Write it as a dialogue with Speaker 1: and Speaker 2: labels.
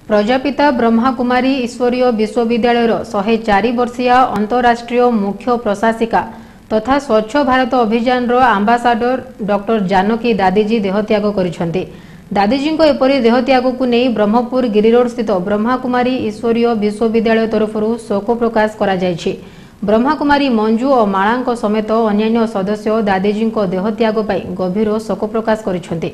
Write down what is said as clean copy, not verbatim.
Speaker 1: ପ୍ରଜାପିତା ବ୍ରହ୍ମାକୁମାରୀ ଈଶ୍ୱରୀୟ ବିଶ୍ୱବିଦ୍ୟାଳୟର 104 ବର୍ଷୀୟା ଅନ୍ତରାଷ୍ଟ୍ରୀୟ ମୁଖ୍ୟ ପ୍ରଶାସିକା ତଥା ସ୍ୱଚ୍ଛ ଭାରତ ଅଭିଯାନର ଆମ୍ବାସାଡର ଡକ୍ଟର ଜାନକୀ ଦାଦିଜୀ ଦେହତ୍ୟାଗ କରିଛନ୍ତି। ଦାଦିଜୀଙ୍କ ଏପରି ଦେହତ୍ୟାଗକୁ ନେଇ ବ୍ରହ୍ମପୁର ଗିରିରୋଡ ସ୍ଥିତ ବ୍ରହ୍ମାକୁମାରୀ ଈଶ୍ୱରୀୟ ବିଶ୍ୱବିଦ୍ୟାଳୟ ତରଫରୁ ଶୋକ ପ୍ରକାଶ କରାଯାଇଛି। ବ୍ରହ୍ମାକୁମାରୀ ମଞ୍ଜୁ ଓ ମାଳାଙ୍କ ସମେତ ଅନ୍ୟାନ୍ୟ ସଦସ୍ୟ ଦାଦିଜୀଙ୍କ ଦେହତ୍ୟାଗ ପାଇଁ ଗଭୀର ଶୋକ ପ୍ରକାଶ କରିଛନ୍ତି।